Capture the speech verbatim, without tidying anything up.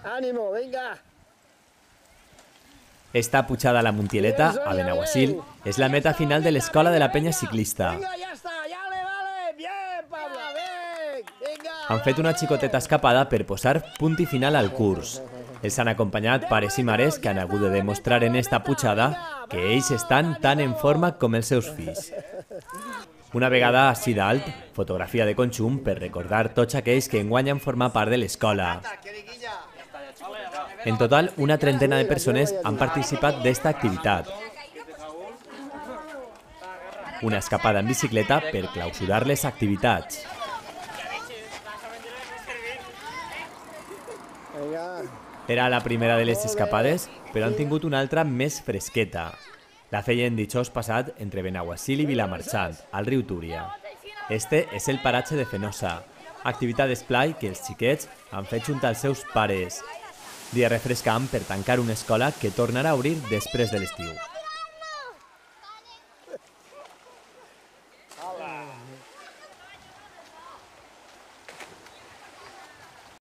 Ánimo, venga. Esta pujada a la Montieleta, a Benaguasil, és la meta final de l'escola de la penya ciclista. Venga, ya está, ya le vale. Bien, Pablo, ven. Venga. Han fet una xicoteta escapada per posar punt i final al curs. Els han acompanyat pares i mares que han hagut de demostrar en esta pujada que ells estan tan en forma com els seus fills. Una vegada així d'alt, fotografia de conjunt per recordar tots aquells que enguany han format part de l'escola. En total, una trentena de persones han participat d'esta activitat. Una escapada en bicicleta per clausurar les activitats. Era la primera de les escapades, però han tingut una altra més fresqueta. La feien dijous passat entre Benaguasil i Vilamarxant, al riu Túria. Este és el paratge de Fenosa, activitat d'esplai que els xiquets han fet junt als seus pares. Dia refrescant per tancar una escola que tornarà a obrir després de l'estiu.